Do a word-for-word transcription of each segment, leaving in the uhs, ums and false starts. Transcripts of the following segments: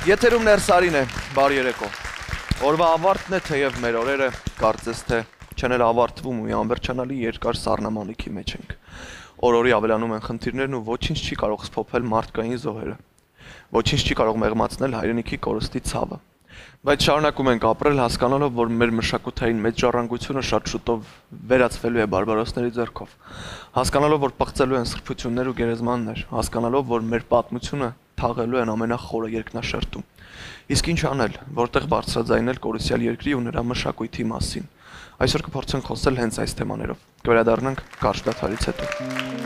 Եթերում Ներսարին է, բարի երեկո։ Օրվա ավարտն է, թեև մեր օրերը կարծես թե չեն էլ ավարտվում ու անվերջանալի երկար սառնամանիքի մեջ ենք։ Օր-օրի ավելանում են խնդիրներն ու ոչինչ չի կարող սփոփել մարդկային զոհերը։ Ոչինչ չի կարող մեղմացնել հայրենիքի կորստի ցավը։ Բայց շարունակում ենք ապրել, հասկանալով, որ մեր մշակութային մեծ ժառանգությունը շատ շուտով վերածվելու է բարբարոսների ձեռքով։ Հասկանալով, որ պղծելու են սրբություններ ու գերեզմաններ, հասկանալով, որ մեր պատմությունը թաղելու են ամենախորը երկնաշերտում։ Իսկ ինչ անել, որտեղ բարձրաձայնել կորուսյալ երկրի ու նրա մշակույթի մասին։ Այսօր կփորձենք խոսել հենց այս թեմաներով։ Կվերադառնանք կարճ դադարից հետո։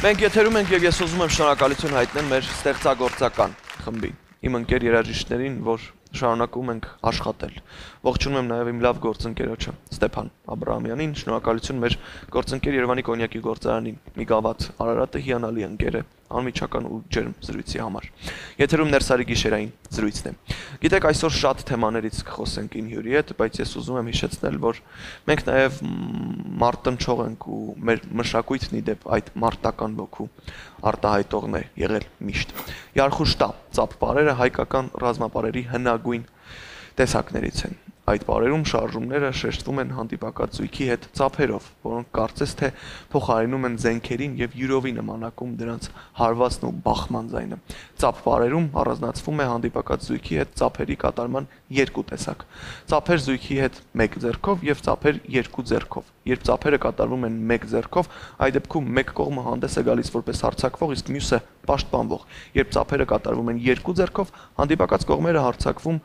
Մենք եթերում ենք և ես ուզում եմ շնորհակալություն հայտնել մեր ստեղծագործական խմբին, իմ ընկեր երաժիշտներին, որ շարունակում ենք աշխատել։ Ողջունում եմ նաև իմ լավ գործընկերոջը Ստեփան Աբրահամյանին, շնորհակալություն մեր գործընկեր Երևանի կոնյակի գործարանին, մի գավաթ Արարատը հիանալի ընկեր է, անմիջական ու ջերմ զրույցի համար։ Եթերում Ներսարի գիշերային զրույցն է։ Գիտեք, այսօր շատ թեմաներից կխոսենք ին հյուրի հետ, բայց ես ուզում եմ հիշեցնել, որ մենք նաև մարտնչող ենք ու մեր մշակույթն ի դեպ այդ մարտական ոգու արտահայտողն է եղել միշտ։ Յարխուշտա ծափ պարերը հայկական ռազմապարերի հնագույն տեսակներից են։ Այդ պարերում շարժումները շեշտվում են հանդիպակաց զույգի հետ ծափերով, որոնք կարծես թե փոխարինում են զենքերին եւ յուրովի նմանակում դրանց հարվածն ու բախման ձայնը։ Ծափ պարերում առանձնացվում է հանդիպակաց զույգի հետ ծափերի կատարման երկու տեսակ։ Ծափեր զույգի հետ մեկ ձեռքով եւ ծափեր երկու ձեռքով։ Երբ ծափերը կատարվում են մեկ ձեռքով, այդ դեպքում մեկ կողմը հանդես է գալիս որպես հարձակվող, իսկ մյուսը պաշտպանվող։ Երբ ծափերը կատարվում են երկու ձեռքով, հանդիպակաց կողմերը հարձակվում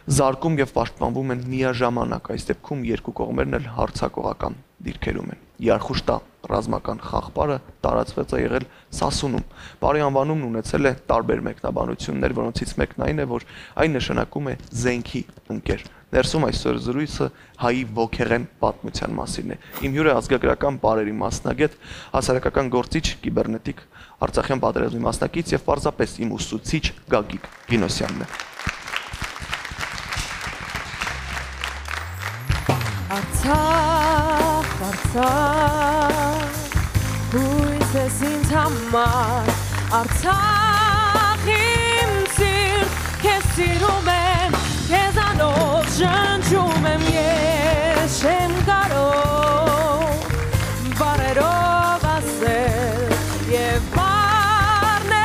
զարկում եւ պաշտպանվում են միաժամանակ, այս դեպքում երկու կողմերն էլ հարձակողական դիրքերում են։ Յարխուշտա ռազմական խաղպարը տարածված է եղել Սասունում։ Պարի անվանումն ունեցել է տարբեր մեկնաբանություններ, որոնցից մեկն այն է, որ այն նշանակում է զենքի ընկեր։ Ներսում այսօր զրույցը հայի ոգեղեն պատմության մասին է։ Իմ հյուրը ազգագրական պարերի մասնագետ, հասարակական գործիչ, կիբեռնետիկ, Արցախյան պատերազմի մասնակից եւ պարզապես իմ ուսուցիչ Գագիկ Գինոսյանն է։ Արցախ, Արցախ, հույս ես ինձ համար, Արցախ իմ սիրտ, քեզ սիրում եմ, քեզանով շնչում եմ ես, չեմ կարող բառերով ասել և բառն է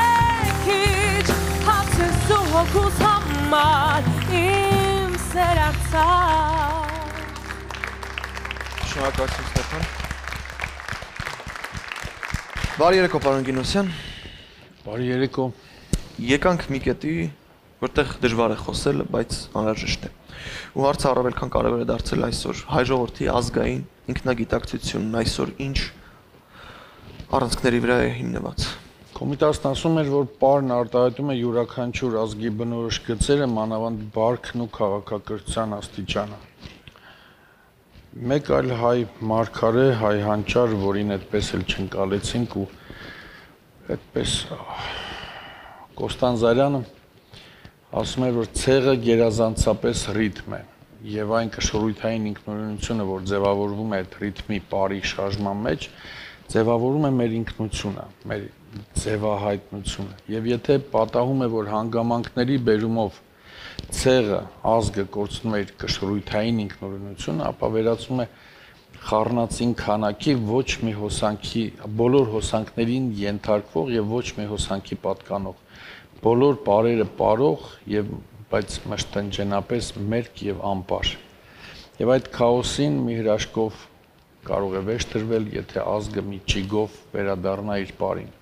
քիչ, հացես ու հոգուս համար, իմ սեր Արցախ։ Շնորհակալություն Ստեփան։ Բարի երեկո, պարոն Գինոսյան։ Բարի երեկո։ Եկանք մի կետի, որտեղ դժվար է խոսել, բայց անհրաժեշտ է։ Ու հարցը առավել քան կարևոր է դարձել այսօր հայ ժողովրդի ազգային ինքնագիտակցությունն այսօր ինչ առանցքների վրա է հիմնված։ Կոմիտասն ասում էր, որ պարն արտահայտում է յուրաքանչյուր ազգի բնորոշ գծերը, մանավանդ բարքն ու քաղաքակրթության աստիճանը։ Մեկ այլ հայ մարգարե, հայ հանճար, որին այդպես էլ չընկալեցինք ու այդպես Կոստան Զարյանը ասում էր, որ ցեղը գերազանցապես ռիթմ է եւ այն կշռույթային ինքնուրույնությունը, որ ձևավորվում է այդ ռիթմի բարի շարժման մեջ, ձևավորում է մեր ինքնությունը, մեր ձևահայտնությունը։ Եվ եթե պատահում է, որ հանգամանքների բերումով ցեղը, ազգը կորցնում է իր կշռույթային ինքնուրույնությունը, ապա վերածվում է խառնածին քանակի ոչ մի հոսանքի, բոլոր հոսանքներին ենթարկվող եւ ոչ մի հոսանքի պատկանող, բոլոր պարերը պարող եւ բայց մշտնջենապես մերկ եւ անպար։ Եվ այդ քաոսին մի հրաշքով կարող է վերջ տրվել, եթե ազգը մի ճիգով վերադառնա իր պարին։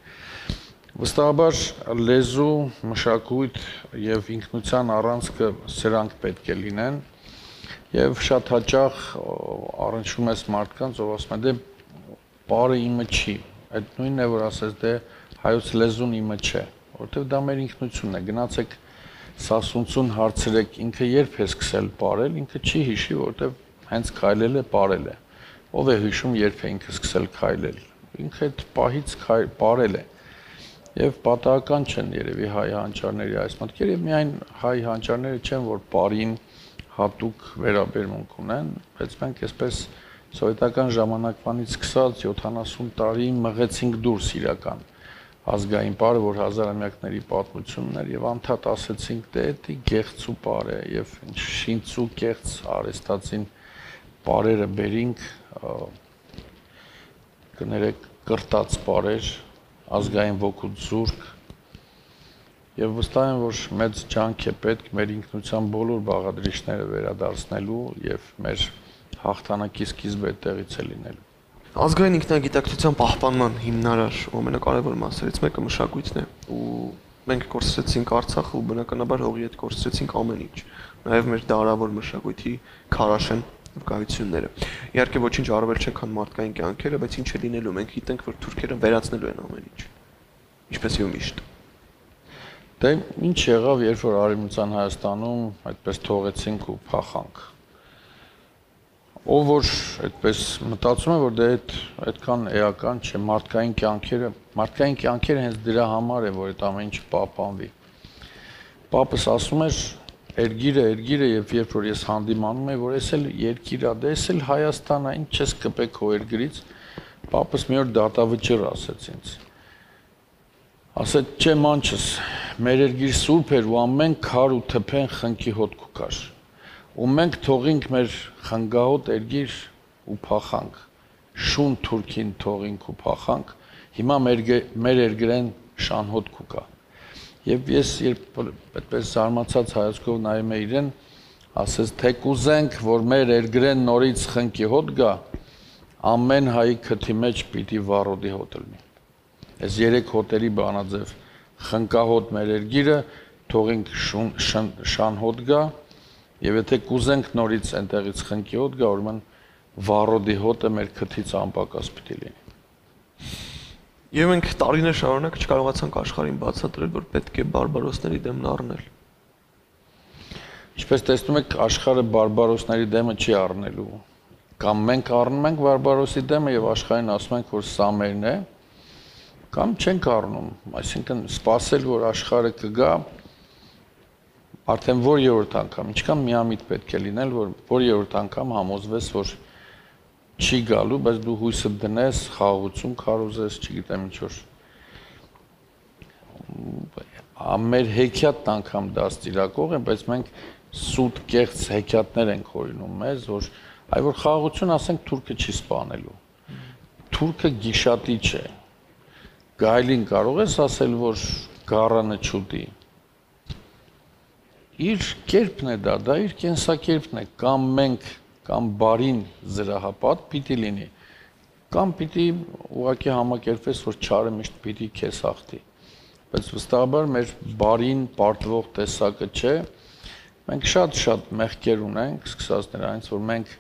Վստահաբար լեզու, մշակույթ եւ ինքնության առանցքը սրանք պետք է լինեն, Եվ շատ հաճախ առնչվում ես մարդկանց, ով ասում է դե բարը իմը չի, այդ նույնն է, որ ասես դե հայոց լեզուն իմը չէ, որովհետև դա մեր ինքնությունն է, գնացեք Սասունցուն հարցրեք, ինքը երբ է սկսել պարել, ինքը չի հիշի, որովհետև հենց քայլել է, պարել է, ով է հիշում, երբ է ինքը սկսել քայլել, ինքը այդ պահից պարել է, և պատահական չեն երևի հայ հանճարների այս մտքերը, և միայն հայ հանճարները չեն, որ պարին հատուկ վերաբերմունք ունեն, բայց մենք այսպես սովետական ժամանակվանից սկսած յոթանասուն տարի մղեցինք դուրս իրական ազգային պարը, որ հազարամյակների պատմությունն էր, և անդադ ասեցինք, դե էդի գեղցու պար է, և շինծու կեղծ արեստացին պարերը բերինք, կներեք կրտած պարեր, ազգային ոգուտ զուրկ, և վստահ եմ, որ մեծ ջանք է պետք մեր ինքնության բոլոր բաղադրիչները վերադարձնելու և մեր հաղթանակի սկիզբը այդտեղից է լինելու։ Ազգային ինքնագիտակցության պահպանման հիմնարար ամենակարևոր մասերից մեկը մշակույթն է, ու մենք կորցրեցինք Արցախը ու բնականաբար հողի հետ կորցրեցինք ամեն ինչ, նաև մեր դարավոր մշակույթի քարաշեն վկայությունները։ Իհարկե ոչինչ առավել չէ, քան մարդկային կյանքերը, բայց ինչ է լինելու, մենք գիտենք, որ թուրքերը վերացնելու են ամեն ինչ, ինչպես եւ միշտ։ Դե ինչ եղավ, երբ որ Արևմտյան Հայաստանում այդպես թողեցինք ու փախանք։ Ով որ այդպես մտածում է, որ դե այդ այդքան էական չէ, մարդկային կյանքերը, մարդկային կյանքերը հենց դրա համար է, որ այդ ամեն ինչ պահպանվի։ Պապս ասում էր, երգիրը, երգիրը, եւ երբ որ ես հանդիմանում եմ, որ էս էլ երկիր է, դե էս էլ Հայաստան է, ինչ չես կպեք քո երգրից, պապս մի օր դատավճիռ ասեց ինձ։ Ասեց, չէ մանչս, մեր երգիր սուրբ էր ու ամեն քար ու թփեն խնկի հոտք կար։ Ու մենք թողինք մեր խնգահոտ երգիր ու փախանք, շուն թուրքին թողինք ու փախանք, հիմա մեր երգրեն շանհոտ կուկա։ Եվ ես երբ այդպես զարմացած հայացքով նայում եմ իրեն, ասեց, թե կուզենք, որ մեր երգրեն նորից խնկի հոտ գա, ամեն հայի քթի մեջ պիտի վառոդի հոտ լինի։ Այս երեք հոտերի բանաձև խնկահոտ մեր երգիրը, թողինք շանհոտ գա, եւ եթե կուզենք նորից այնտեղից խնկի հոտ գա, ուրեմն վառոդի հոտը մեր քթից անպակաս պիտի լինի։ Եվ մենք տարիներ շարունակ չկարողացանք աշխարհին բացատրել, որ պետք է բարբարոսների դեմն առնել։ Ինչպես տեսնում եք, աշխարհը բարբարոսների դեմը չի առնելու։ Կամ մենք առնում ենք բարբարոսի դեմը եւ աշխարհին ասում ենք, որ սա մերն է, կամ չենք առնում, այսինքն սպասել, որ աշխարհը կգա, արդեն որ երրորդ անգամ, ինչքան միամիտ պետք է լինել, որ որ երրորդ անգամ համոզվես, որ չի գալու, բայց դու հույսը դնես, խաղաղություն քարոզես, չգիտեմ ինչ որ։ Մեր հեքիաթն անգամ դա ստիրակող է, բայց մենք սուտ կեղծ հեքիաթներ ենք հորինում մեզ, որ այ որ խաղաղություն ասենք թուրքը չի սպանելու։ Թուրքը գիշատիչ է։ Գայլին կարող ես ասել, որ գառանը չուտի։ Իր կերպն է դա, դա իր կենսակերպն է, կամ մենք կամ բարին զրահապատ պիտի լինի, կամ պիտի ուղղակի համակերպվես, որ չարը միշտ պիտի քեզ հաղթի։ Բայց վստահաբար մեր բարին պարտվող տեսակը չէ, մենք շատ-շատ մեղքեր ունենք, սկսած նրանից, որ մենք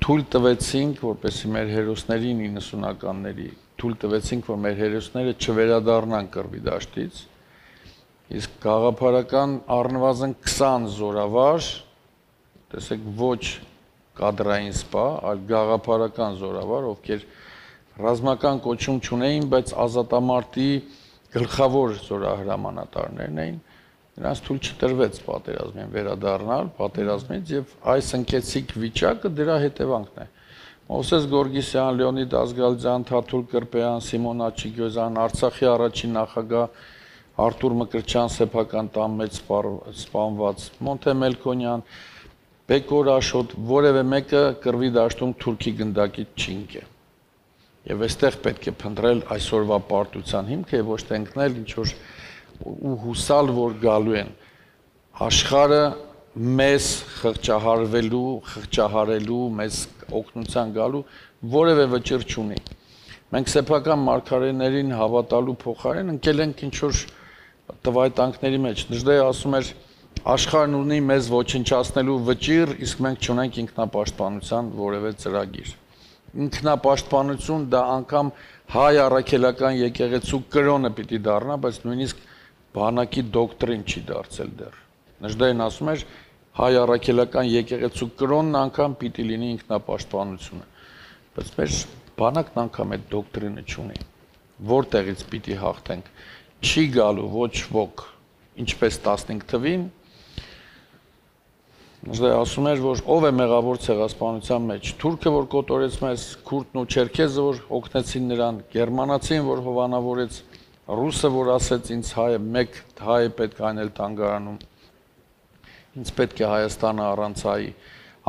թույլ տվեցինք, որպեսզի մեր հերոսներին իննսունականների, թույլ տվեցինք, որ մեր հերոսները չվերադառնան կռվի դաշտից, իսկ գաղափարական առնվազն քսան զորավար, տեսեք ոչ կադրային սպա, այլ գաղափարական զորավար, ովքեր ռազմական կոչում չունեին, բայց ազատամարտի գլխավոր զորահրամանատարներն էին, նրանց թույլ չտրվեց պատերազմին վերադառնալ պատերազմից եւ այս ընկեցիկ վիճակը դրա հետևանքն է։ Մովսես Գորգիսյան, Լեոնիդ Ազգալձյան, Թաթուլ Կրպեյան, Սիմոն Աչիկյոզյան, Արցախի առաջին նախագահ Արտուր Մկրտչյան սեփական տան մեջ սպանված, Մոնթե Մելքոնյան, Բեկոր Աշոտ, որևէ մեկը կռվի դաշտում թուրքի գնդակից չի ընկել։ Եվ այստեղ պետք է փնտրել այսօրվա պարտության հիմքը եւ ոչ թե ընկնել ինչ որ ու հուսալ, որ գալու են աշխարհը մեզ խղճահարվելու, խղճահարելու, մեզ օգնության գալու որևէ վճիռ չունի։ Մենք սեփական մարգարեներին հավատալու փոխարեն ընկել ենք ինչ որ տվայտանքների մեջ։ Դժդե ասում էր, Աշխարհն ունի մեզ ոչնչացնելու վճիռ, իսկ մենք չունենք ինքնապաշտպանության որևէ ծրագիր։ Ինքնապաշտպանություն դա անգամ հայ առաքելական եկեղեցու կրոնը պիտի դառնա, բայց նույնիսկ բանակի դոկտրին չի դարձել դեռ։ Նժդեհն ասում էր հայ առաքելական եկեղեցու կրոնն անգամ պիտի լինի ինքնապաշտպանությունը։ Բայց մեր բանակն անգամ այդ դոկտրինը չունի։ Որտեղից պիտի հաղթենք։ Չի գալու ոչ ոք, ինչպես տասնհինգ թվին Նժդեհ ասում էր, որ ով է մեղավոր ցեղասպանության մեջ, թուրքը, որ կոտորեց մեզ, քուրդն ու չերքեզը, որ օգնեցին նրան, գերմանացին, որ հովանավորեց, ռուսը, որ ասեց ինձ հայ է, մեկ հայ է պետք անել թանգարանում, ինձ պետք է Հայաստանը առանց հայի,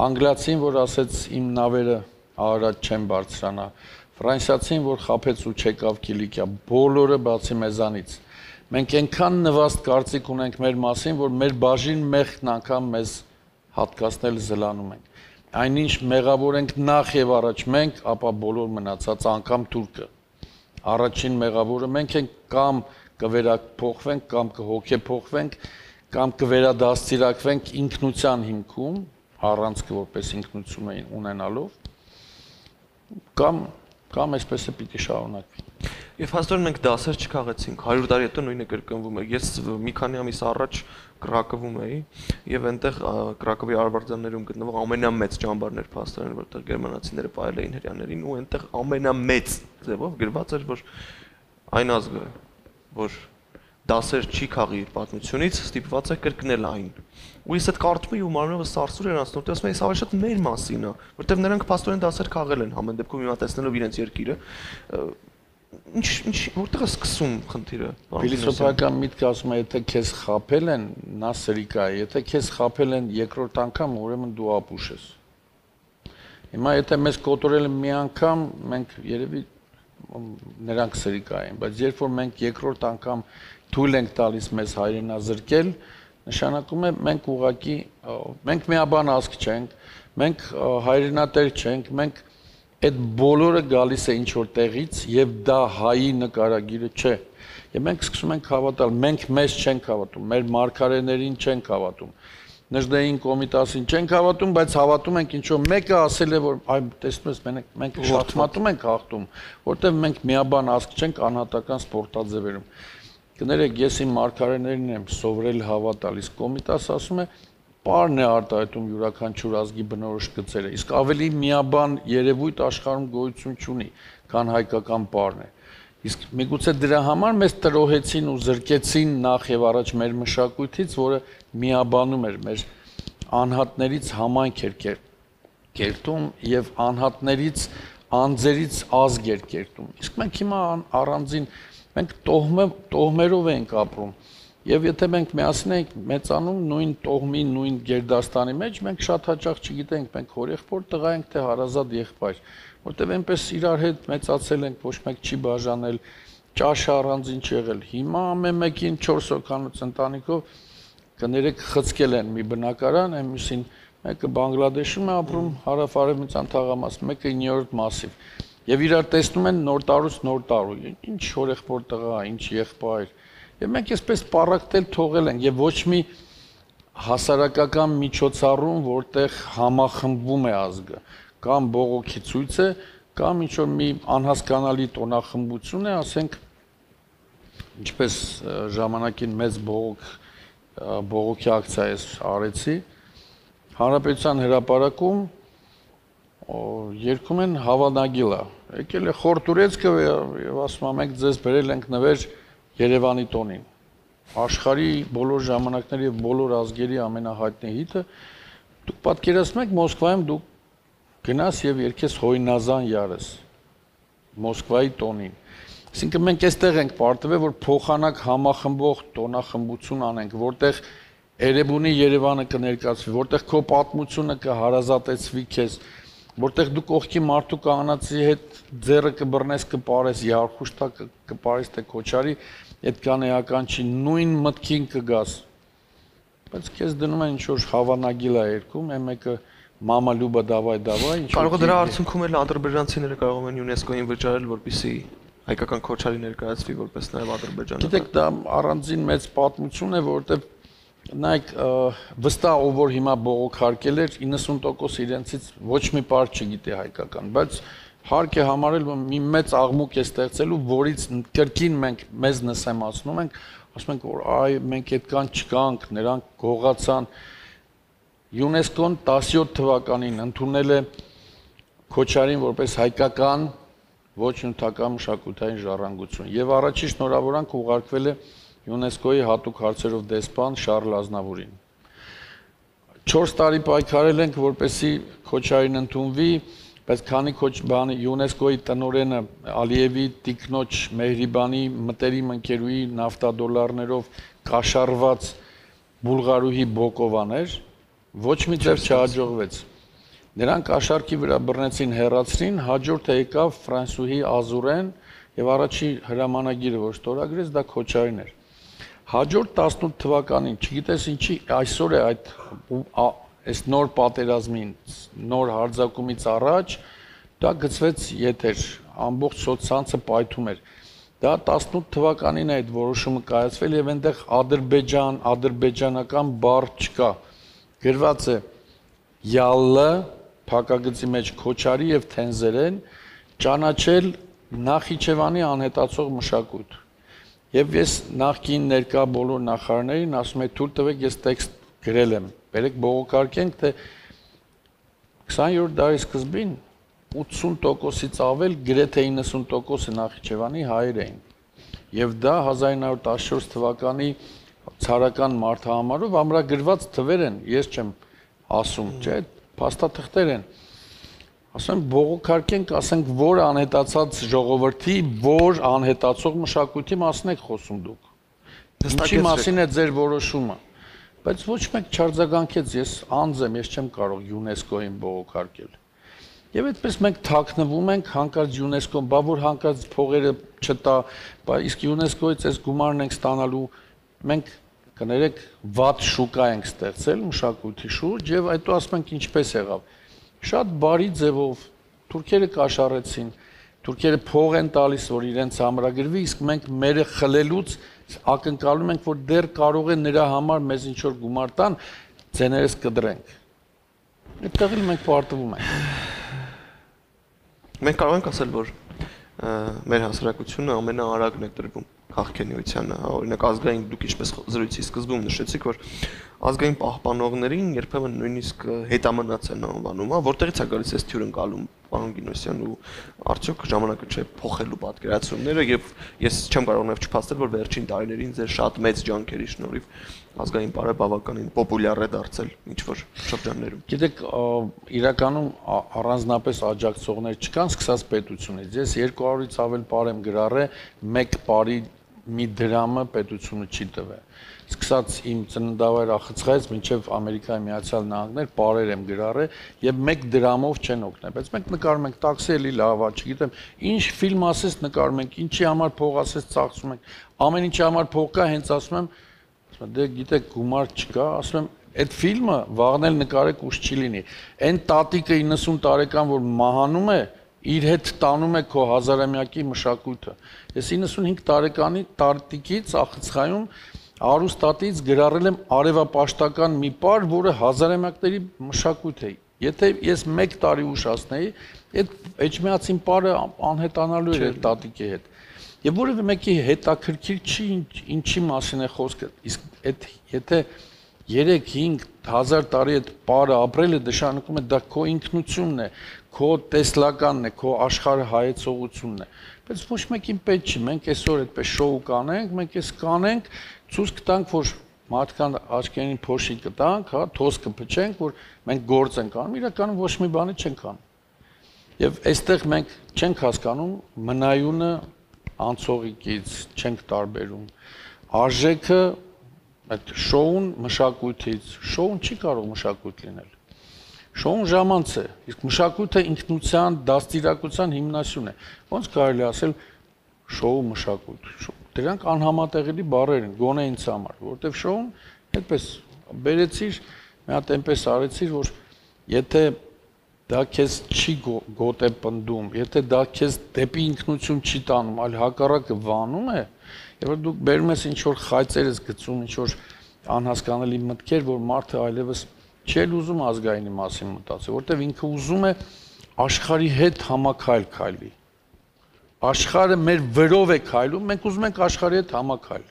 անգլիացին, որ ասեց իմ նավերը Արարատ չեն բարձրանա, ֆրանսիացին, որ խաբեց ու չեկավ Կիլիկիա, բոլորը բացի մեզանից։ Մենք այնքան նվաստ կարծիք ունենք մեր մասին, որ մեր բաժին մեղքն անգամ մեզ հատկացնել զլանում ենք։ Այնինչ մեղավոր ենք նախ եւ առաջ մենք, ապա բոլոր մնացած անգամ թուրքը։ Առաջին մեղավորը մենք ենք, կամ կվերափոխվենք, կամ կհոգեփոխվենք, կամ կվերադաստիարակվենք ինքնության հիմքում, առանցքը որպես ինքնություն ունենալով, կամ կամ այսպես է պիտի շարունակվի։ Եվ հաստորեն մենք դասեր չքաղեցինք, հարյուր տարի հետո նույնը կրկնվում է։ Ես մի քանի ամիս առաջ Կրակովում էի եւ այնտեղ Կրակովի արվարձաններում գտնվող ամենամեծ ճամբարն էր փաստորեն, որտեղ գերմանացիները պահել էին հрьяաներին ու այնտեղ ամենամեծ ձևով գրված էր, որ այն ազգը, որ դասեր չի քաղի իր պատմությունից, ստիպված է կրկնել այն։ Ու ես այդ կարծում եմ ու մարմնովս սարսուր էր անցնում, դե ասում եմ, այս ավելի շատ մեր մասին է, որտեղ նրանք փաստորեն դասեր քաղել են, ամեն դեպքում հիմա տեսնելով իրենց երկիրը, ինչ ինչ որտեղ է սկսում խնդիրը։ Փիլիսոփայական միտքը ասում է, եթե քեզ խաբել են, նա սրիկա է, եթե քեզ խաբել են երկրորդ անգամ, ուրեմն դու ապուշ ես։ Հիմա եթե մեզ կոտորել են մի անգամ, մենք երևի նրանք սրիկա են, բայց երբ որ մենք երկրորդ անգամ թույլ ենք տալիս մեզ հայրենազրկել, նշանակում է մենք ուղղակի մենք միաբան ազգ չենք, մենք հայրենատեր չենք, մենք այդ բոլորը գալիս է ինչ որ տեղից եւ դա հայի նկարագիրը չէ։ Եվ մենք սկսում ենք հավատալ, մենք մեզ չենք հավատում, մեր մարգարեներին չենք հավատում։ Նժդեհին Կոմիտասին չենք հավատում, բայց հավատում ենք ինչ որ մեկը ասել է, որ այ տեսնում ես մենք մենք շախմատում ենք հաղթում, որտեղ մենք միաբան ազգ չենք անհատական սպորտաձևերում։ Կներեք, ես իմ մարգարեներին եմ սովորել հավատալ, իսկ Կոմիտասը ասում է պարն է արտահայտում յուրաքանչյուր ազգի բնորոշ գծերը, իսկ ավելի միաբան երևույթ աշխարհում գոյություն չունի, քան հայկական պարն է։ Իսկ միգուցե դրա համար մեզ տրոհեցին ու զրկեցին նախ եւ առաջ մեր մշակույթից, որը միաբանում էր մեր անհատներից համայնք էր կերտում եւ անհատներից անձերից ազգ էր կերտում։ Իսկ մենք հիմա առանձին մենք տոհմերով ենք ապրում։ Եվ եթե մենք միասին ենք մեծանում նույն տոհմի, նույն գերդաստանի մեջ, մենք շատ հաճախ չգիտենք, մենք հորեղբոր տղա ենք, թե հարազատ եղբայր, որտեղ այնպես իրար հետ մեծացել ենք, ոչ մեկ չի բաժանել, ճաշը առանձին չեղել։ Հիմա ամեն մեկին չորս հոգանոց ընտանիքով կներեք խցկել են մի բնակարան, այնպեսին մեկը Բանգլադեշում է ապրում, հարավ-արևմտյան թաղամասում, մեկը իններորդ մասիվ։ Եվ իրար տեսնում են նոր տարուց նոր տարու, ինչ հորեղբոր տղա, ինչ եղբայր։ Եվ մենք այսպես պարակտել թողել ենք եւ ոչ մի հասարակական միջոցառում, որտեղ համախմբվում է ազգը, կամ բողոքի ցույց է, կամ ինչ որ մի անհասկանալի տոնախմբություն է, ասենք, ինչպես ժամանակին մեծ բողոք բողոքի ակցիա ես արեցի, Հանրապետության հրապարակում երգում են Հավանագիլա, եկել է Խոր Տուրեցկը եւ ասում են մենք ձեզ բերել ենք նվեր Երևանի տոնին, աշխարհի բոլոր ժամանակների եւ բոլոր ազգերի ամենահայտնի հիթը, դուք պատկերացնում եք Մոսկվայում դուք գնաս եւ երգես Հոյնազան յարս, Մոսկվայի տոնին։ Այսինքն մենք այստեղ ենք պարտվել, որ փոխանակ համախմբող տոնախմբություն անենք, որտեղ Էրեբունի Երևանը կներկայացվի, որտեղ քո պատմությունը կհարազատեցվի քեզ, որտեղ դու կողքի մարդու կանացի հետ ձեռը կբռնես, կպարես, Յարխուշտա կպարես, թե Քոչարի, այդքան էական չի, նույն մտքին կգաս։ Բայց քեզ դնում են ինչ-որ Հավանագիլա երգում, այն մեկը Մամա Լյուբա դավայ դավայ, ինչ-որ։ Կարող է դրա արդյունքում էլ ադրբեջանցիները կարող են ՅՈՒՆԵՍԿՕ-ին վճարել, որպեսզի հայկական Քոչարի ներկայացվի որպես նաև Ադրբեջանը։ Գիտեք, դա առանձին մեծ պատմություն է, որովհետև նայեք, վստահ ով որ հիմա բողոքարկել էր իննսուն տոկոս իրենցից ոչ մի բառ չգիտի հայկական, բայց հարկ է համարել, որ մի մեծ աղմուկ է ստեղծելու, որից կրկին մենք մեզ նսեմացնում ենք, ասում ենք, որ այ մենք այդքան չկանք, նրանք գողացան։ ՅՈՒՆԵՍԿՕ-ն տասնյոթ թվականին ընդունել է Քոչարին որպես հայկական ոչ նյութական մշակութային ժառանգություն եւ առաջին շնորհավորանք ուղարկվել է ՅՈՒՆԵՍԿՕ-ի հատուկ հարցերով դեսպան Շարլ Ազնավուրին։ չորս տարի պայքարել ենք, որպեսզի Քոչարին ընդունվի, բայց քանի քոչ բանի ՅՈՒՆԵՍԿՕ-ի տնօրենը Ալիևի տիկնոջ Մեհրիբանի մտերիմ ընկերուի նավթադոլարներով կաշառված բուլղարուհի Բոկովան էր, ոչ մի ձև չհաջողվեց։ Նրանք կաշառքի վրա բռնեցին հեռացրին, հաջորդը եկավ ֆրանսուհի Ազուրեն եւ առաջի հրամանագիրը որ ստորագրեց դա Քոչարին էր։ Հաջորդ տասնութ թվականին, չգիտես ինչի, այսօր է այդ այս նոր պատերազմին, նոր հարձակումից առաջ դա գծվեց եթեր, ամբողջ սոցցանցը պայթում էր։ Դա տասնութ թվականին է այդ որոշումը կայացվել եւ այնտեղ Ադրբեջան, ադրբեջանական բառ չկա։ Գրված է յալլը փակագծի մեջ Քոչարի եւ Թենզերեն ճանաչել Նախիջևանի անհետացող մշակույթ։ Եվ ես նախկին ներկա բոլոր նախարարներին ասում եմ թույլ տվեք ես տեքստ գրել եմ։ Բերեք բողոքարկենք, թե քսաներորդ դարի սկզբին ութսուն տոկոսից ավել գրեթե իննսուն տոկոսը Նախիջևանի հայեր էին։ Եվ դա հազար ինը հարյուր տասնչորս թվականի ցարական մարդահամարով ամրագրված թվեր են, ես չեմ ասում, չէ, փաստաթղթեր են։ Ասեմ բողոքարկենք, ասենք որ անհետացած ժողովրդի, որ անհետացող մշակույթի մասին եք խոսում դուք։ Ինչի մասին է ձեր որոշումը։ Բայց ոչ մեկ չարձագանքեց, ես անձ եմ, ես չեմ կարող ՅՈՒՆԵՍԿՕ-ին բողոքարկել։ Եվ այդպես մենք թաքնվում ենք, հանկարծ ՅՈՒՆԵՍԿՕ-ն, բա որ հանկարծ փողերը չտա, բա իսկ ՅՈՒՆԵՍԿՕ-ից այս գումարն ենք ստանալու, մենք կներեք վատ շուկա ենք ստեղծել մշակույթի շուրջ եւ այդու ասում ենք ինչպես եղավ։ Շատ բարի ձևով թուրքերը կաշառեցին, թուրքերը փող են տալիս, որ իրենց համրագրվի, իսկ մենք մերը խլելուց ակնկալում ենք, որ դեռ կարող է նրա համար մեզ ինչ որ գումար տան, ձեներս կդրենք։ Այդտեղ էլ մենք պարտվում ենք։ Մենք կարող ենք ասել, որ մեր հասարակությունը ամենաարագն է տրվում քաղաքենիությանը, օրինակ ազգային դուք ինչպես զրույցի սկզբում նշեցիք, որ ազգային պահպանողներին երբեմն նույնիսկ հետամնաց են անվանում, որտեղից է գալիս այս թյուրընկալում, պարոն Գինոսյան, ու արդյոք ժամանակը չէ փոխելու պատկերացումները եւ ես չեմ կարող նաեւ չփաստել, որ վերջին տարիներին ձեր շատ մեծ ջանքերի շնորհիվ ազգային պարը բավականին պոպուլյար է դարձել ինչ որ շրջաններում։ Գիտեք, իրականում առանձնապես աջակցողներ չկան, սկսած պետությունից։ Ես երկու հարյուրից ավել պար եմ գրառել, մեկ պարի մի դրամը պետությունը չի տվել։ Սկսած իմ ծննդավայր Ախցղայից մինչև Ամերիկայի Միացյալ Նահանգներ պարեր եմ գրառել եւ մեկ դրամով չեն օգնել, բայց մենք նկարում ենք տաքսի էլի լավ է, չգիտեմ, ինչ ֆիլմ ասես նկարում ենք, ինչի համար փող ասես ծախսում ենք, ամեն ինչի համար փող կա, հենց ասում եմ, ասում եմ, դե գիտեք, գումար չկա, ասում եմ, այդ ֆիլմը վաղն էլ նկարեք ուշ չի լինի։ Այն տատիկը իննսուն տարեկան որ մահանում է, իր հետ տանում է քո հազարամյակի մշակույթը։ Ես իննսունհինգ տարեկանի տատիկից Ախցղայում Արուստատից գրառել եմ արևապաշտական մի պար, որը հազարամյակների մշակույթ է։ Եթե ես մեկ տարի ուշացնեի, այդ էջմիածին պարը անհետանալու էր այդ տատիկի հետ։ Եվ որևէ մեկի հետաքրքիր չի ինչի մասին է խոսքը։ Իսկ այդ եթե երեք հինգ հազար տարի այդ պարը ապրել է, նշանակում է դա քո ինքնությունն է, քո տեսլականն է, քո աշխարհը հայեցողությունն է։ Բայց ոչ մեկին պետք չի, մենք այսօր այդպես շոու կանենք, մենք էս կանենք, ցույց կտանք, որ մարդկան աչքերին փոշի կտանք, հա, թոս կփչենք, որ մենք գործ ենք անում, իրականում ոչ մի բանի չենք անում։ Եվ այստեղ մենք չենք հասկանում մնայունը անցողիկից, չենք տարբերում։ Արժեքը այդ շոուն մշակույթից, շոուն չի կարող մշակույթ լինել։ Շոուն ժամանց է, իսկ մշակույթը ինքնության, դաստիարակության հիմնասյուն է։ Ոնց կարելի ասել շոու մշակույթ։ Դրանք անհամատեղելի բառեր են, գոնե ինձ համար, որովհետև շոուն այդպես բերեցիր, մի հատ այնպես արեցիր, որ եթե դա քեզ չի գոտե պնդում, եթե դա քեզ դեպի ինքնություն չի տանում, այլ հակառակը վանում է, եւ որ դուք բերում ես ինչ որ խայծեր ես գցում, ինչ որ անհասկանալի մտքեր, որ մարդը այլևս չէ ուզում ազգայինի մասին մտածել, որտեղ ինքը ուզում է աշխարհի հետ համակայլ քայլի։ Աշխարհը մեր վրով է քայլում, մենք ուզում ենք աշխարհի հետ համակայլ։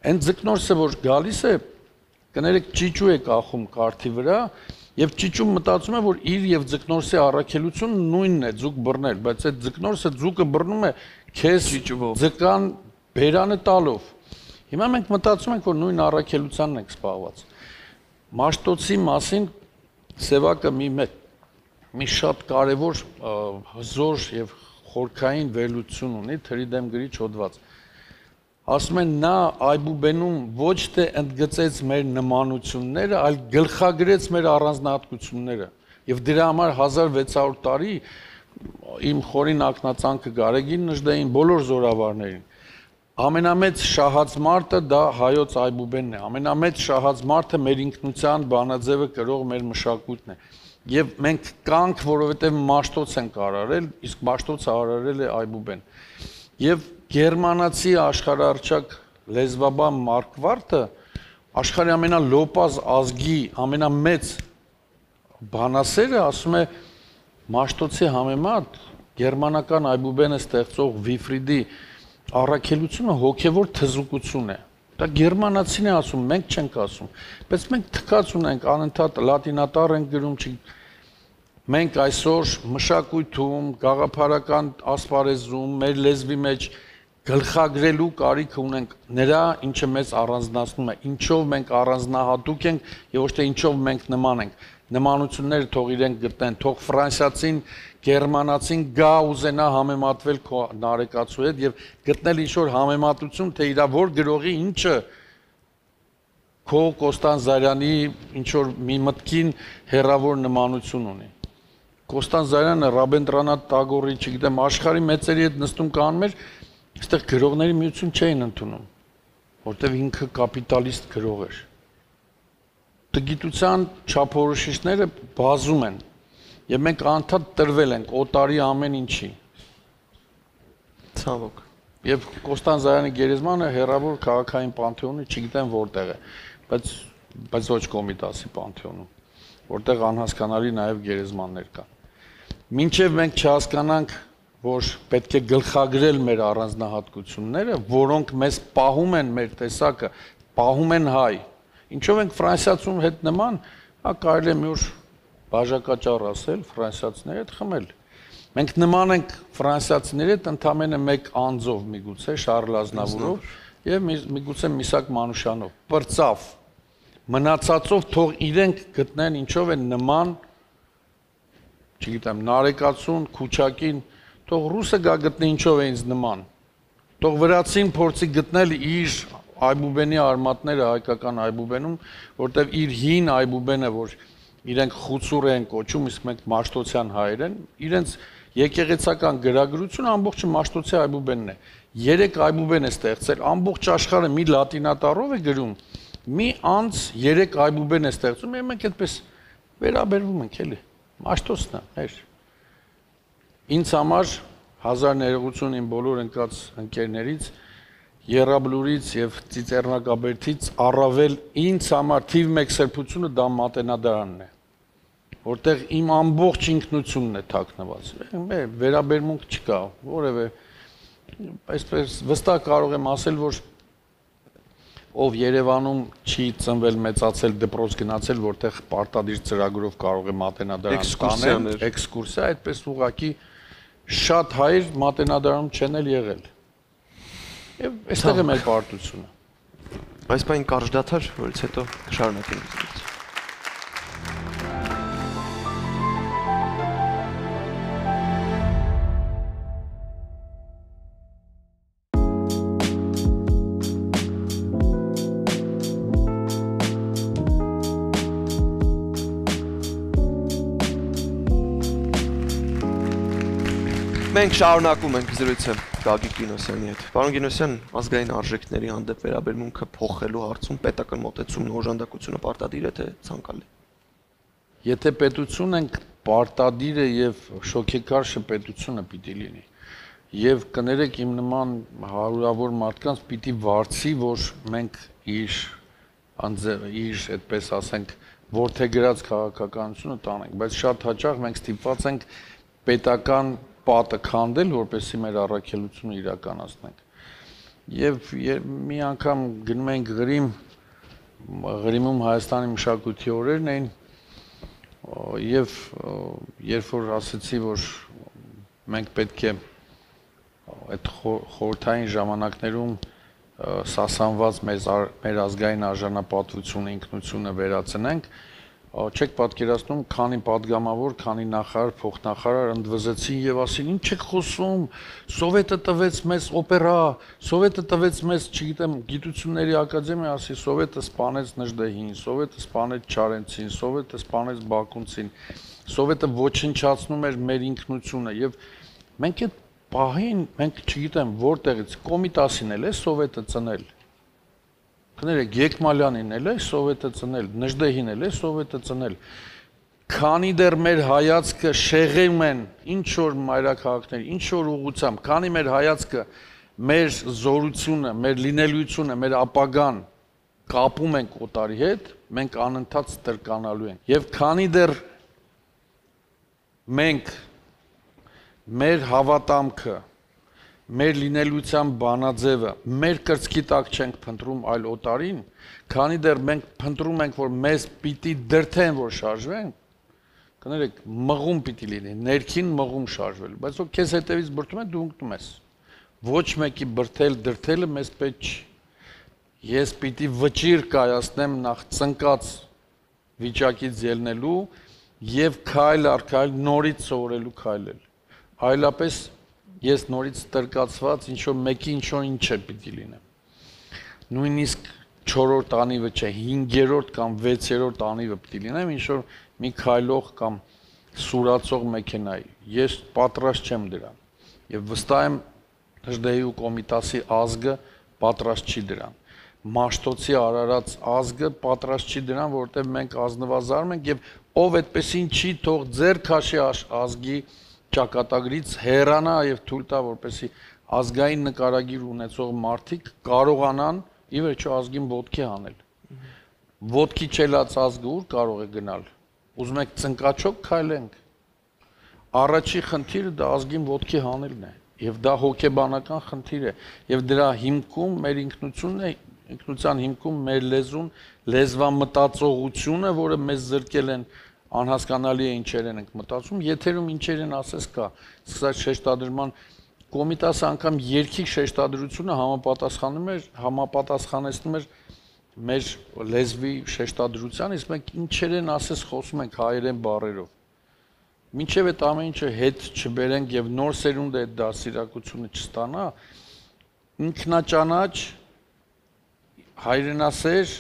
Այն ձկնորսը, որ գալիս է, կներեք ճիճու է կախում կարթի վրա, եւ ճիճուն մտածում է, որ իր եւ ձկնորսի առաքելությունը նույնն է, ձուկ բռնել, բայց այդ ձկնորսը ձուկը բռնում է քեզ ձկան բերանը տալով։ Հիմա մենք մտածում ենք, որ նույն առաքելությանն ենք սպառված։ Մաշտոցի մասին Սևակը մի մի շատ կարևոր հզոր եւ խորքային վերլուծություն ունի թրի դեմ գրիչ հոդված։ Ասում են նա Այբուբենում ոչ թե ընդգծեց մեր նմանությունները, այլ գլխագրեց մեր առանձնահատկությունները։ Եվ դրա համար հազար վեց հարյուր տարի իմ խորին ակնածանքը Գարեգին Նժդեին բոլոր զորավարներին։ Ամենամեծ շահած մարդը դա հայոց Այբուբենն է։ Ամենամեծ շահած մարդը մեր ինքնության բանաձևը կրող մեր մշակույթն է։ Եվ մենք կանք, որովհետև Մաշտոց ենք արարել, իսկ Մաշտոցը արարել է Այբուբեն։ Եվ գերմանացի աշխարհարչակ լեզվաբան Մարկվարտը աշխարհի ամենալոպազ ազգի ամենամեծ բանասերը ասում է Մաշտոցի համեմատ գերմանական Այբուբենը ստեղծող Վիֆրիդի առաքելությունը հոգևոր թզուկություն է։ Դա գերմանացին է ասում, մենք չենք ասում։ Բայց մենք թքած ունենք, անընդհատ լատինատառ ենք գրում, մենք այսօր մշակույթում, գաղափարական ասպարեզում, մեր լեզվի մեջ գլխագրելու կարիք ունենք նրա, ինչը մեզ առանձնացնում է, ինչով մենք առանձնահատուկ ենք եւ ոչ թե ինչով մենք նման ենք։ Նմանությունները թող իրենք գտնեն, թող ֆրանսիացին, գերմանացին գա ուզենա համեմատվել քո նարեկացու հետ եւ գտնել ինչ-որ համեմատություն, թե իրա որ գրողի ինչը քո Կոստան Զարյանի ինչ-որ մի մտքին հերավոր նմանություն ունի։ Կոստան Զարյանը Ռաբինդրանաթ Տագորի, չգիտեմ, աշխարհի մեծերի հետ նստում կանում էր, այստեղ գրողների միություն չէին ընդունում, որտեղ ինքը կապիտալիստ գրող էր։ Գիտության չափորոշիչները բազում են եւ մենք անդադ տրվել ենք օտարի ամեն ինչի։ Ցավոք։ Եվ Կոստան Զարյանի գերեզմանը հերավոր քաղաքային պանթեոնի չգիտեմ որտեղ է, բայց բայց ոչ Կոմիտասի պանթեոնում, որտեղ անհասկանալի նաեւ գերեզմաններ կան։ Մինչեւ մենք չհասկանանք, որ պետք է գլխագրել մեր առանձնահատկությունները, որոնք մեզ պահում են մեր տեսակը, պահում են հայ։ Ինչով ենք ֆրանսիացուն հետ նման, հա կարելի է մի օր բաժակաճառ ասել ֆրանսիացիների հետ խմել։ Մենք նման ենք ֆրանսիացիների հետ ընդամենը մեկ անձով միգուցե Շարլ Ազնավուրով եւ միգուցե Միսակ Մանուշյանով։ Պրծավ։ Մնացածով թող իրենք գտնեն ինչով են նման, չգիտեմ, Նարեկացուն, Քուչակին, թող ռուսը գա գտնի ինչով է ինձ նման։ Թող վրացին փորձի գտնել իր Այբուբենի արմատները հայկական Այբուբենում, որտեվ իր հին Այբուբենը, որ իրենք խուցուր են կոչում, իսկ մենք Մաշտոցյան հայեր են, իրենց եկեղեցական գրագրությունը ամբողջը Մաշտոցի Այբուբենն է։ Երեք Այբուբեն է ստեղծել, ամբողջ աշխարհը մի լատինատառով է գրում, մի անց երեք Այբուբեն է ստեղծում, եւ մենք այդպես վերաբերվում ենք, էլի։ Մաշտոցն է, հեր։ Ինձ համար հազար ներողություն իմ բոլոր ընկած ընկերներից Եռաբլուրից եւ Ծիծեռնակաբերդից առավել ինձ համար թիվ մեկ սրբությունը դա Մատենադարանն է, որտեղ իմ ամբողջ ինքնությունն է թաքնված։ Վերաբերմունք չկա, որևէ այսպես վստահ կարող եմ ասել, որ ով Երևանում չի ծնվել, մեծացել, դպրոց գնացել, որտեղ պարտադիր ծրագրով կարող է Մատենադարան տանել, էքսկուրսիա, այդպես ուղղակի շատ հայր Մատենադարանում չեն էլ եղել։ Եվ այստեղ է մեր պարտությունը։ Այս բան կարճ դադար, որից հետո կշարունակենք։ Մենք շարունակում ենք զրույցը Գագիկ Գինոսյանի հետ։ Պարոն Գինոսյան, ազգային արժեքների հանդեպ վերաբերմունքը փոխելու հարցում պետական մոտեցումն ու օժանդակությունը պարտադիր է թե ցանկալի։ Եթե պետություն ենք, պարտադիր է եւ շոքեկար շփետությունը պիտի լինի։ Եվ կներեք իմ նման հարյուրավոր մարդկանց պիտի վարձի, որ մենք իր անձը իր այդպես ասենք որդեգրած քաղաքականությունը տանենք, բայց շատ հաճախ մենք ստիպված ենք պետական պատը քանդել, որպեսզի մեր առաքելությունը իրականացնենք։ Եվ մի անգամ գնում ենք Ղրիմ, Ղրիմում Հայաստանի մշակույթի օրերն էին, եւ երբ որ ասացի, որ մենք պետք է այդ խորհրդային ժամանակներում սասանված մեր ազգային արժանապատվությունը, ինքնությունը վերացնենք, չեք պատկերացնում, քանի падգամավոր, քանի նախարար, փոխնախարար ընդվզեցին եւ ասին, ինչ եք խոսում, Սովետը տվեց մեզ օպերա, Սովետը տվեց մեզ, չգիտեմ, գիտությունների ակադեմիա, ասի, Սովետը սպանեց Նժդեհին, Սովետը սպանեց Չարենցին, Սովետը սպանեց Բաքունցին, Սովետը ոչնչացնում էր մեր ինքնությունը եւ մենք այդ պահին, մենք չգիտեմ, որտեղից Կոմիտասին էլ է Սովետը ծնել։ Կներեք, Գեկմալյանին էլ է Սովետը ծնել, Նժդեհին էլ է Սովետը ծնել։ Քանի դեռ մեր հայացքը շեղում են ինչ որ մայրաքաղաքներ, ինչ որ ուղղությամբ, քանի մեր հայացքը մեր զորությունը, մեր լինելիությունը, մեր ապագան կապում ենք օտարի հետ, մենք անընդհատ ստրկանալու ենք։ Եվ քանի դեռ մենք մեր հավատամքը, մեր լինելիության բանաձևը, մեր կրծքի տակ չենք փնտրում այլ օտարին, քանի դեռ մենք փնտրում ենք, որ մեզ պիտի դրթեն, որ շարժվենք, կներեք, մղում պիտի լինի, ներքին մղում շարժվել, բայց որ քեզ հետևից բրդում են, դու ընկնում ես։ Ոչ մեկի բրդել, դրթելը մեզ պետք չի։ Ես պիտի վճիռ կայացնեմ նախ ծնկած վիճակից ելնելու եւ քայլ առ քայլ նորից սովորելու քայլել։ Այլապես ես նորից ստրկացված ինչ-որ մեկի ինչ-որ ինչ է պիտի լինեմ։ Նույնիսկ չորրորդ անիվը չէ, հինգերորդ կամ վեցերորդ անիվը պիտի լինեմ, ինչ-որ մի քայլող կամ սուրացող մեքենայի։ Ես պատրաստ չեմ դրան։ Եվ վստահ եմ Նժդեհի ու Կոմիտասի ազգը պատրաստ չի դրան։ Մաշտոցի արարած ազգը պատրաստ չի դրան, որովհետև մենք ազնվազարում ենք եւ ով այդպեսին չի թող ձեր քաշի ազգի ճակատագրից հեռանա եւ թույլ տա, որպեսզի ազգային նկարագիր ունեցող մարդիկ կարողանան ի վերջո ազգին ոտքի հանել։ Ոտքի չելած ազգը ուր կարող է գնալ։ Ուզում եք ծնկաչոք քայլենք։ Առաջի խնդիրը դա ազգին ոտքի հանելն է, եւ դա հոգեբանական խնդիր է, եւ դրա հիմքում մեր ինքնությունն է, ինքնության հիմքում մեր լեզուն, լեզվամտածողությունը, որը մեզ զրկել են անհասկանալի է ինչեր ենք մտածում, եթերում ինչեր են ասես կա, սկսած շեշտադրման Կոմիտասը անգամ երկիկ շեշտադրությունը համապատասխանում էր, համապատասխանեցնում էր մեր լեզվի շեշտադրության, իսկ մենք ինչեր են ասես խոսում ենք հայերեն բառերով։ Մինչև այդ ամեն ինչը հետ չբերենք եւ նոր սերունդը այդ դասիրակությունը չստանա, ինքնաճանաչ, հայրենասեր,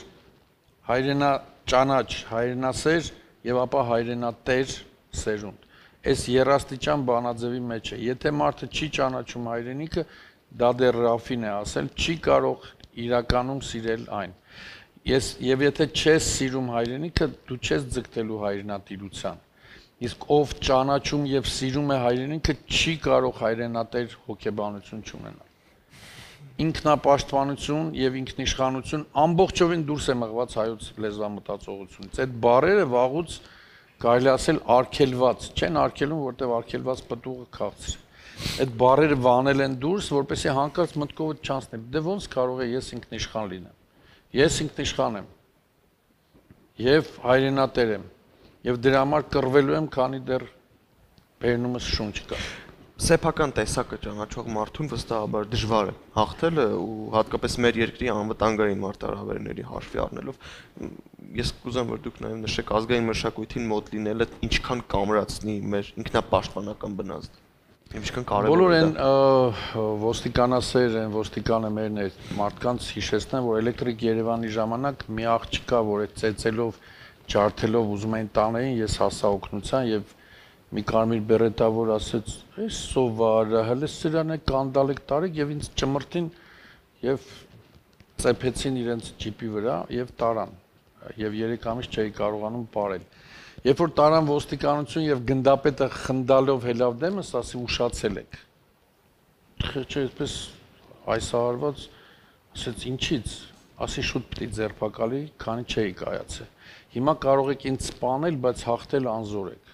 հայրենաճանաչ, հայրենասեր եւ ապա հայրենատեր սերունդ։ Այս երաստիճան բանաձևի մեջ է։ Եթե մարդը չի ճանաչում հայրենիքը, դա դեռ Ռաֆին է ասել, չի կարող իրականում սիրել այն։ Ես եւ եթե չես սիրում հայրենիքը, դու չես ձգտելու հայրենատիրության։ Իսկ ով ճանաչում եւ սիրում է հայրենիքը, չի կարող հայրենատեր հոգեբանություն չունենալ։ Ինքնապաշտպանություն եւ ինքնիշխանություն ամբողջովին դուրս է մղված հայոց լեզվամտածողությունից։ Այդ բառերը վաղուց կարելի ասել արգելված չեն, արգելում, որտեղ արգելված պտուղը քաղցր է։ Այդ բառերը վանել են դուրս, որպեսզի հանկարծ մտքովդ չանցնի։ Դե ոնց կարող է ես ինքնիշխան լինեմ։ Ես ինքնիշխան եմ եւ հայրենատեր եմ եւ դրա համար կռվելու եմ, քանի դեռ բերնումս շունչ կա։ Սեփական տեսակը ճանաչող մարդուն վստահաբար դժվար է հաղթելը ու հատկապես մեր երկրի անվտանգային մարտահրավերների հաշվի առնելով ես կուզեմ որ դուք նաև նշեք ազգային մշակույթին մոտ լինելը ինչքան կամրացնի մեր ինքնապաշտպանական բնազդը ինչքան կարևոր է։ Բոլոր են ոստիկանասեր են, ոստիկանը մերն է մարդկանց հիշեցնեն, որ Էլեկտրիկ Երևանի ժամանակ մի աղջիկա, որ այդ ծեծելով, ջարդելով ուզում էին տանեին, ես հասա օգնության եւ մի կարմիր բերետավոր ասեց, «Էս սովարը, հələ սրան է կանդալ եք տարեք» եւ ինձ ճմրտին եւ ծեփեցին իրենց ջիպի վրա եւ տարան եւ երեք ամիս չէի կարողանում ապարել։ Երբ որ տարան ոստիկանություն եւ գնդապետը խնդալով հելավ դեմս, ասի ուշացել եք։ Չէ, այդպես այս հարված ասեց ինչից։ ասի շուտ պիտի ձերբակալի, քանի չէի կայացել։ Հիմա կարող եք ինձ սպանել, բայց հաղթել անզոր եք։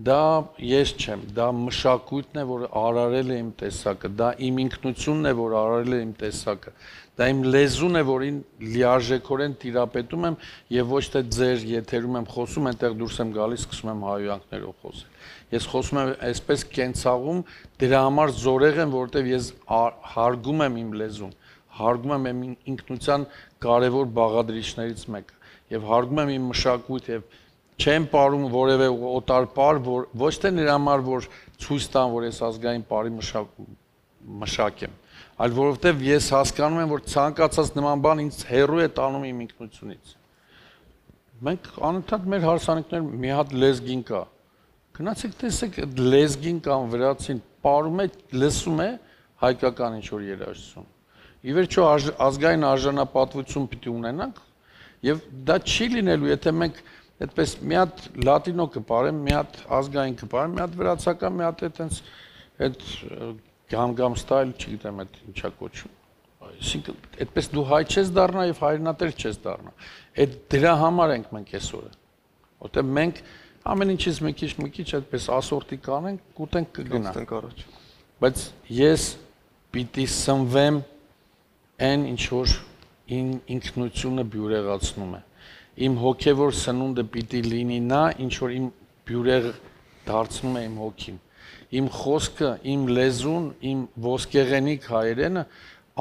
Դա ես չեմ, դա մշակույթն է, որ արարել է իմ տեսակը, դա իմ ինքնությունն է, որ արարել է իմ տեսակը, դա իմ լեզուն է, որին լիարժեքորեն տիրապետում եմ եւ ոչ թե ձեր եթերում եմ խոսում, այնտեղ դուրս եմ գալիս, սկսում եմ հայոյանքներով խոսել։ Ես խոսում եմ այսպես կենցաղում, դրա համար զորեղ եմ, որովհետեւ ես հարգում եմ իմ լեզուն, հարգում եմ իմ ինքնության կարևոր բաղադրիչներից մեկը եւ հարգում եմ իմ մշակույթ եւ չեմ ապարում որևէ օտար պար, որ ոչ թե նրա համար, որ ցույց տան, որ ես ազգային պարի մշակ մշակ եմ, այլ որովհետև ես հասկանում եմ, որ ցանկացած նման բան ինձ հեռու է տանում իմ ինքնությունից։ Մենք անընդհատ մեր հարսանիքներ մի հատ լեզգին կա։ Գնացեք տեսեք այդ լեզգին կամ վրացին պարում է, լսում է հայկական ինչ որ երաժշտություն։ Ի վերջո ազգային արժանապատվություն պիտի ունենանք, եւ դա չի լինելու, եթե մենք այդպես մի հատ լատինո կպարեմ, մի հատ ազգային կպարեմ, մի հատ վրացական, մի հատ այտենց այդ գամ-գամ ստայլ, չգիտեմ, այդ ինչա կոչում։ Այսինքն, այդպես դու հայ չես դառնա եւ հայրենատեր չես դառնա։ Այդ դրա համար ենք մենք այսօրը։ Որտեղ մենք ամեն ինչից մի քիչ մի քիչ այդպես ասորտի կանենք, կուտենք կգնա։ Կգնանք առաջ։ Բայց ես պիտի սնվեմ այն ինչ որ ինքնությունը բյուրեղացնում է։ Իմ հոգևոր սնունդը պիտի լինի նա, ինչ որ իմ բյուրեղը դարձնում է իմ հոգին։ Իմ խոսքը, իմ լեզուն, իմ ոսկեղենիկ հայերենը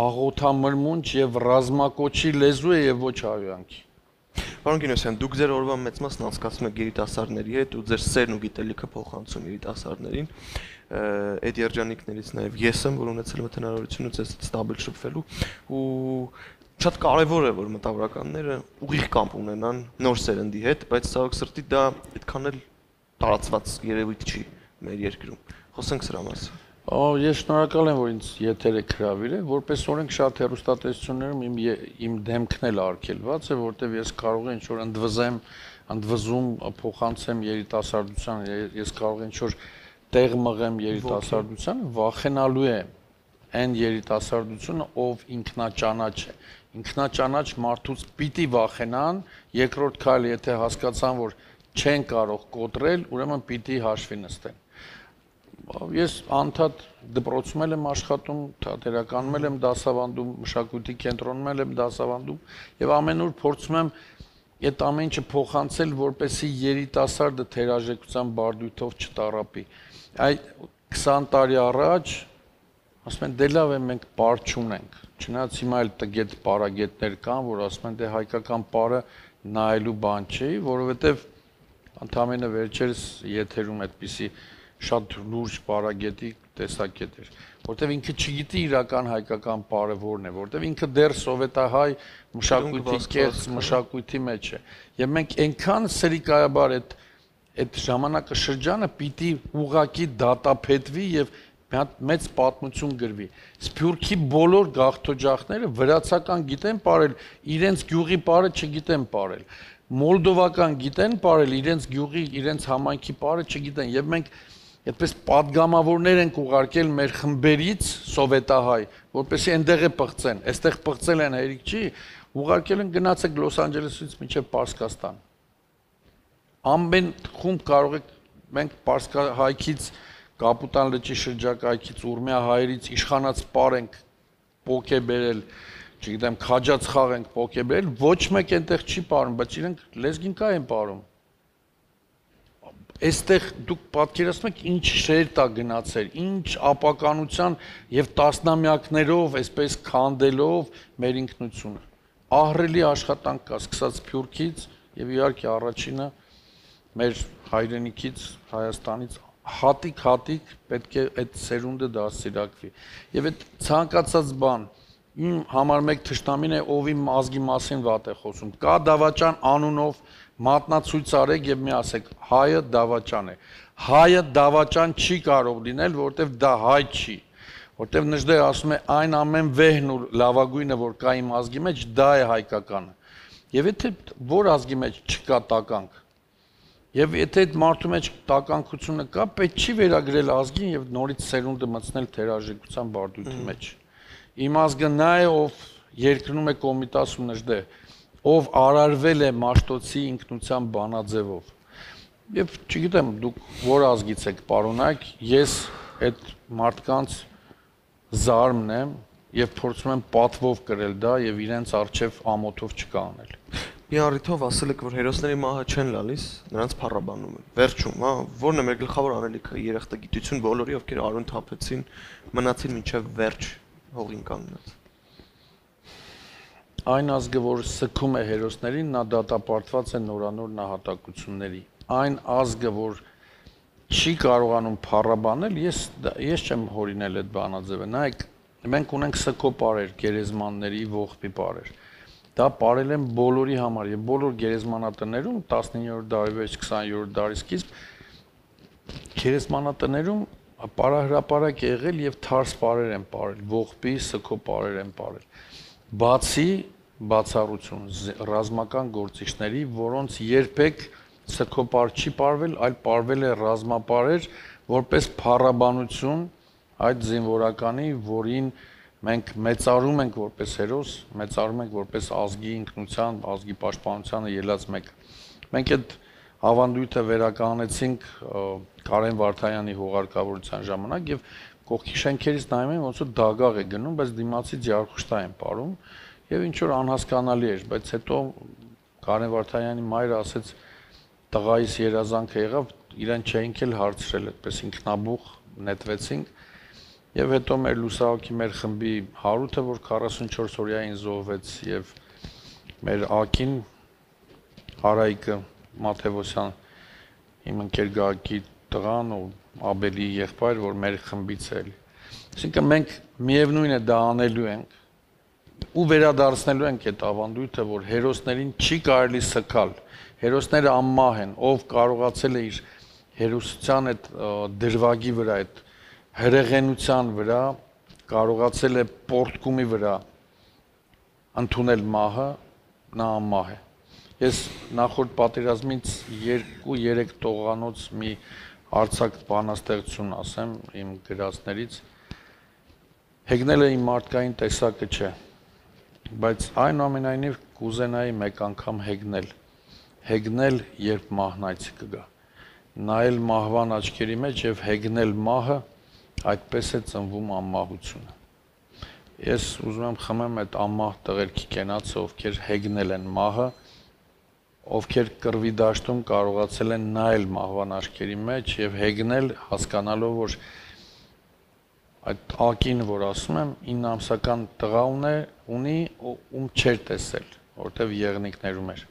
աղոթամրմունջ եւ ռազմակոչի լեզու է եւ ոչ հայոյանքի։ Պարոն Գինոսյան, դուք ձեր օրվա մեծ մասն անցկացնում եք երիտասարդների հետ ու ձեր սերն ու գիտելիքը փոխանցում երիտասարդներին։ Այդ երջանիկներից նաեւ ես եմ, որ ունեցել եմ հնարավորությունը ձեզ ստաբիլ շփվելու ու շատ կարևոր է, որ մտավորականները ուղիղ կապ ունենան նոր սերնդի հետ, բայց ցավոք սրտի դա այդքան էլ տարածված երևույթ չի մեր երկրում։ Խոսենք սրա մասին։ Ես շնորհակալ եմ, որ ինձ եթեր եք հրավիրել, որպես օրենք շատ հեռուստատեսություններում իմ իմ դեմքն էլ արգելված է, որտեղ ես կարող եմ ինչ-որ ընդվզեմ, ընդվզում փոխանցեմ երիտասարդության, ես կարող եմ ինչ-որ տեղ մղեմ երիտասարդությանը, վախենալու է այն երիտասարդությունը, ով ինքնաճանաչ է։ Ինքնաճանաչ մարդուց պիտի վախենան, երկրորդ քայլը, եթե հասկացան, որ չեն կարող կոտրել, ուրեմն պիտի հաշվի նստեն։ Ես անդադ դպրոցում եմ աշխատում, թատերականում եմ դասավանդում, մշակույթի կենտրոնում եմ դասավանդում եւ ամենուր փորձում եմ այդ ամեն ինչը փոխանցել, որպեսզի երիտասարդը թերաժեկության բարդույթով չտառապի։ Այդ քսան տարի առաջ ասում են դե լավ է մենք պար չունենք։ Չնայած հիմա էլ տգետ պարագետներ կան, որ ասում են դե հայկական պարը նայելու բան չի, որովհետեւ ընդամենը վերջերս եթերում այդպիսի շատ լուրջ պարագետի տեսակետ էր, որտեվ ինքը չգիտի իրական հայկական պարը որն է, որտեվ ինքը դեռ սովետահայ մշակույթի կեղծ մշակույթի մեջ է։ Եվ մենք այնքան սրիկայաբար այդ այդ ժամանակը շրջանը պիտի ուղակի դատապետվի եւ մի հատ մեծ պատմություն գրվի։ Սփյուռքի բոլոր գաղթօջախները վրացական գիտեն պարել, իրենց գյուղի պարը չգիտեն պարել։ Մոլդովական գիտեն պարել, իրենց գյուղի, իրենց համայնքի պարը չգիտեն եւ մենք այդպես падգամավորներ ենք ուղարկել մեր խմբերից սովետահայ, որպեսզի այնտեղ է պղծեն, այստեղ պղծել են հերիք չի, ուղարկել են գնացեք Լոս Անջելեսից մինչև Պարսկաստան։ Ամեն խումբ կարող եք մենք Պարսկահայքից, Կապուտան լճի շրջակայքից, Ուրմիա հայերից իշխանած պար ենք պոկե բերել, չգիտեմ, քաջած խաղ ենք պոկե բերել, ոչ մեկ այնտեղ չի պարում, բայց իրենք լեզգին կա են պարում։ Այստեղ դուք պատկերացնում եք ինչ շեր տա գնացել, ինչ ապականության եւ տասնամյակներով, այսպես քանդելով մեր ինքնությունը։ Ահռելի աշխատանք կա, սկսած Սփյուռքից եւ իհարկե առաջինը մեր հայրենիքից, Հայաստանից հատիկ-հատիկ պետք է այդ սերունդը դաստիարակվի։ Եվ այդ ցանկացած բան իմ համար մեկ թշնամին է, ով իմ ազգի մասին վատ է խոսում։ Կա դավաճան անունով մատնացույց արեք եւ մի ասեք հայը դավաճան է։ Հայը դավաճան չի կարող լինել, որովհետեւ դա հայ չի։ Որովհետեւ Նժդեհ ասում է այն ամեն վեհն ու լավագույնը, որ կա իմ ազգի մեջ, դա է հայկականը։ Եվ եթե որ ազգի մեջ չկա տականք, եւ եթե այդ մարդու մեջ տականքությունը կա, պետք չի վերագրել ազգին եւ նորից սերունդը մտցնել թերաժեկության բարդույթի մեջ։ Իմ ազգը նա է, ով երկրնում է կոմիտասում նժդե, ով արարվել է Մաշտոցի ինքնության բանաձևով։ Եվ չգիտեմ, դուք որ ազգից եք պարոնայք, ես այդ մարդկանց զարմն եմ եւ փորձում եմ պատվով կրել դա եւ իրենց արժեվ ամոթով չկանել։ Մի առիթով ասել եք, որ հերոսների մահը չեն լալիս, նրանց փառաբանում են։ Վերջում, հա, որն է մեր գլխավոր անելիքը՝ երախտագիտություն բոլորի, ովքեր արուն թափեցին, մնացին մինչև վերջ հողին կանգնած։ Այն ազգը, որ սգում է հերոսներին, նա դատապարտված է նորանոր նահատակությունների։ Այն ազգը, որ չի կարողանում փառաբանել, ես ես չեմ հորինել այդ բանաձևը։ Նայեք, մենք ունենք սգո պարեր, գերեզմանների ողբի պարեր։ Դա պարել են բոլորի համար եւ բոլոր գերեզմանատներում տասնիններորդ դարի վեր քսաներորդ դարի սկիզբ գերեզմանատներում պարահրապարակ է եղել եւ թարս պարեր են պարել, ողբի սգո պարեր են պարել։ Բացի բացառություն ռազմական գործիչների, որոնց երբեք սգո պար չի պարվել, այլ պարվել է ռազմապարեր որպես փառաբանություն այդ զինվորականի, որին մենք մեծարում ենք որպես հերոս, մեծարում ենք որպես ազգի ինքնության, ազգի պաշտպանությանը ելած մեկը։ Մենք այդ ավանդույթը վերականգնեցինք Կարեն Վարդանյանի հուղարկավորության ժամանակ եւ կողքի շենքերից նայում են ոնց որ դագաղ է գնում, բայց դիմացի ջարխուշտա են ապարում եւ ինչ որ անհասկանալի էր, բայց հետո Կարեն Վարդանյանի մայրը ասեց տղայիս երազանքը եղավ, իրեն չէինք էլ հարցրել, այդպես ինքնաբուխ նետվեցինք եւ հետո մեր լուսահոգի մեր խմբի Հարութը, որ քառասունչորս օրյային զոհվեց եւ մեր ակին Արայիկը Մաթեոսյան իմ ընկեր Գագի տղան ու Աբելի եղբայր, որ մեր խմբից է։ Այսինքն մենք միևնույն է դա անելու ենք ու վերադարձնելու ենք այդ ավանդույթը, որ հերոսներին չի կարելի սքալ։ Հերոսները անմահ են, ով կարողացել է իր հերոսության այդ դրվագի վրա, այդ հրեղենության վրա, կարողացել է պորտկումի վրա ընդունել մահը, նա անմահ է։ Ես նախորդ պատերազմից երկու-երեք տողանոց մի արձակ բանաստեղծություն ասեմ իմ գրածներից։ Հեգնելը իմ մարդկային տեսակը չէ, բայց այնուամենայնիվ կուզենայի մեկ անգամ հեգնել։ Հեգնել, երբ մահն այցի կգա։ Նայել մահվան աչքերի մեջ եւ հեգնել մահը, այդպես է ծնվում անմահությունը։ Ես ուզում եմ խմեմ այդ անմահ տղերքի կենացը, ովքեր հեգնել են մահը, ովքեր կռվի դաշտում կարողացել են նայել մահվան աչքերի մեջ եւ հեգնել, հասկանալով, որ այդ ակին, որ ասում եմ, ինը ամսական տղա ունի, ում չէր տեսել, որտեվ եղնիկներում էր։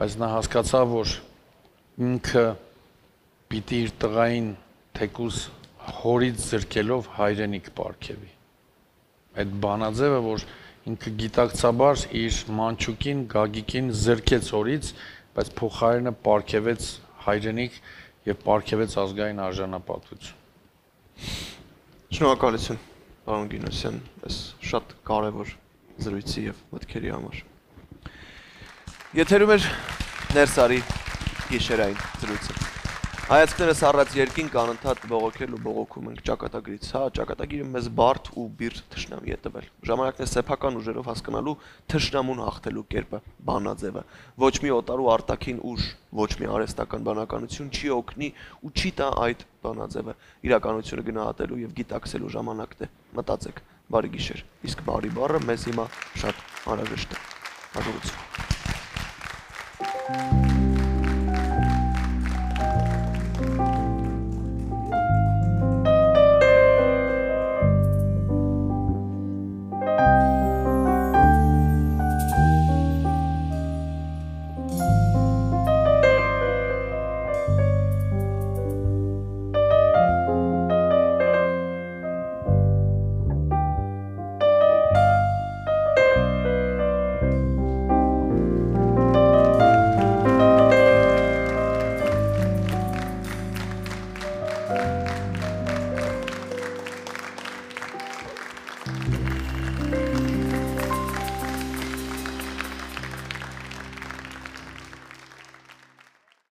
Բայց նա հասկացավ, որ ինքը պիտի իր տղային թեկուզ հորից զրկելով հայրենիք պարգևի։ Այդ բանաձևը, որ ինքը գիտակցաբար իր մանչուկին, Գագիկին զրկեց հորից, բայց փոխարենը պարգևեց հայրենիք եւ պարգևեց ազգային արժանապատվություն։ Շնորհակալություն, պարոն Գինոսյան, այս շատ կարևոր զրույցի եւ մտքերի համար։ Եթերում էր Ներսարի գիշերային զրույցը։ Հայացքներս առած երկինք անընդհատ բողոքել ու բողոքում ենք ճակատագրից, հա, ճակատագիրը մեզ բարդ ու բիրտ թշնամի է տվել։ Ժամանակն է սեփական ուժերով հասկանալու թշնամուն հաղթելու կերպը, բանաձևը։ Ոչ մի օտար ու արտաքին ուժ, ոչ մի արհեստական բանականություն չի օգնի ու չի տա այդ բանաձևը։ Իրականությունը գնահատելու եւ գիտակցելու ժամանակն է։ Մտածեք, բարի գիշեր։ Իսկ բարի բառը մեզ հիմա շատ անհրաժեշտ է։ Հաջողություն։